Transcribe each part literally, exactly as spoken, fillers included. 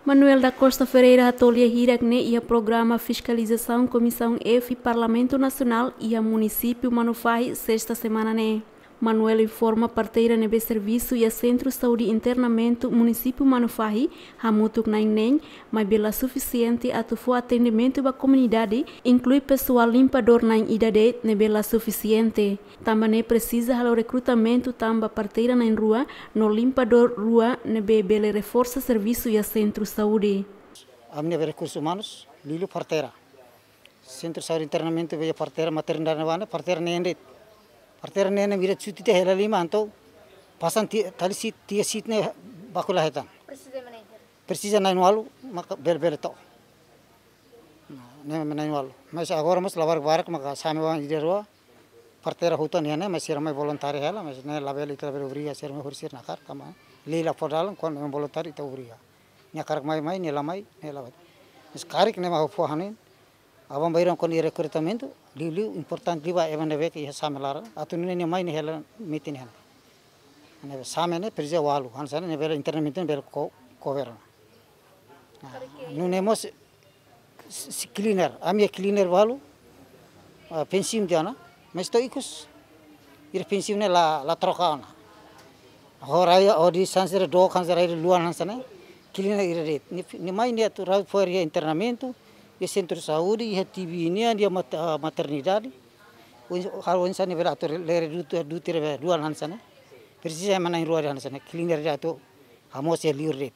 Manuel da Costa Ferreira hato'o lia hirak ne'e iha programa fiskalizasaun Komisaun F Parlamentu Nasionál iha munisípiu Manufahi, sesta semana ne'e. Manuel informa parteira ne'ebé servisu iha Sentru Saúde Internamentu munisípiu Manufahi hamutuk na'in neen, maibé la sufisiente atu fó atendimentu ba komunidade, inklui pesoál limpadór na'in ida de'it ne'ebé la sufisiente. Tanba ne'e presiza halo rekrutamentu tan ba parteira na'in rua no limpadór rua ne'ebé bele reforsa servisu iha sentru saúde. Ami-nia Rekursus Umanus, liuliu parteira. Sentru Saúde Internamentu be parteira, maternidade ne'ebá ne'e, parteira neen de'it. Parteira neen ne'e mira cuti tiha hela liman, entaun pasan ti-, tali siit, tiha siit ne'e baku la hetan. Presiza ema na'in hira? Presiza na'in-ualu, maka bele, bele to'o. Nah, ne'e ema na'in-ualu. Mas agora mós labarik barak maka same wan ida rua. Parteira hotu-hotu nian ne'e, mas sira mai voluntáriu hela, mas ne'e labele, ita labele obriga sira mai, hori sira-nia hakarak, tanba lei la fó dalan, kuandu ema voluntáriu ita obriga. Nia hakarak mai, mai, nia la mai, nia la'ós. Mas karik ne'e mak ha'u fó hanoin, aban-bainrua kuandu iha rekrutamentu, liuliu importante liu ba ema ne'ebé ke iha same laran, atu nune'e nia mai nia hela metin iha ne'e. Ne'ebé same ne'e presiza ualu, hanesan ne'e bele internamentu ne'e bele ko-, cover. Nah, nune'e mós si, si cleaner, ami-nia cleaner balu, ah, pensiun tiha ona, mas to'o ikus, ira pensiun ne'e la, la troka ona. Ho rai, ho di sanse re do, sanse rai re luan hanesan ne'e, cleaner ira de'it. Nia, nia mai nia atu rau fora iha internamentu, iha sentru saúde, iha T B nian, iha mat-, ah, maternidade. Oin, halo oinsá nia bele atu lere dutu, dutu ira be luan hanesan ne'e. Presiza ema na'in-rua hanesan ne'e, cleaner de'it atu hamoos iha liur de'it.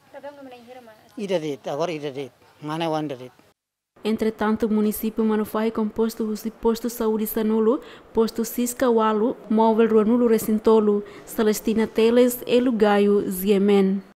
Ida de'it, agora ida de'it. Mane wan ida de'it. Entretantu, munisípiu Manufahi kompostu husi postu saúde sanulu, postu Siska ualu, móvel ruanulu-resin-tolu. Celestina Teles, Elu Gayo, G M N.